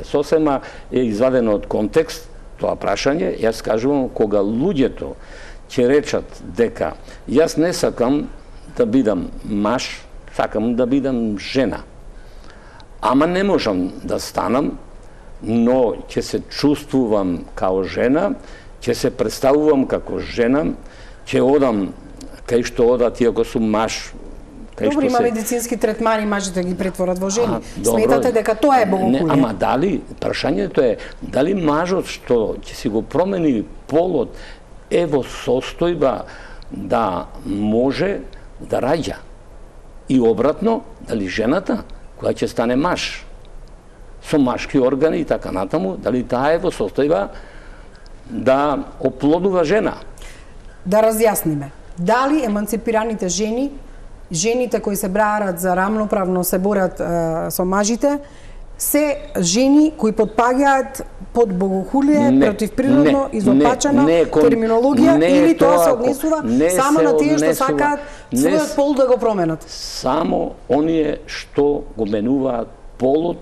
Сосема е извадено од контекст тоа прашање. Јас кажувам, кога луѓето ќе речат дека јас не сакам да бидам маж, сакам да бидам жена. Ама не можам да станам, но ќе се чувствувам као жена, ќе се представувам како жена, ќе одам кај што одат иако сум маж. Добро, има медицински третмани, мажите ги претворат во жени. Сметате дека тоа е богохулие? Ама дали, прашањето е, дали мажот што ќе си го промени полот е во состојба да може да раѓа? И обратно, дали жената, која ќе стане маж, со машки органи и така натаму, дали таа е во состојба да оплодува жена? Да разјасниме. Дали еманципираните жени, жените кои се браат за рамноправно се борат со мажите, се жени кои подпаѓаат под богохулие, противприродно, изопачена терминологија, или тоа се однесува само на тие што сакаат својот пол да го променат? Само оние што го менуваат полот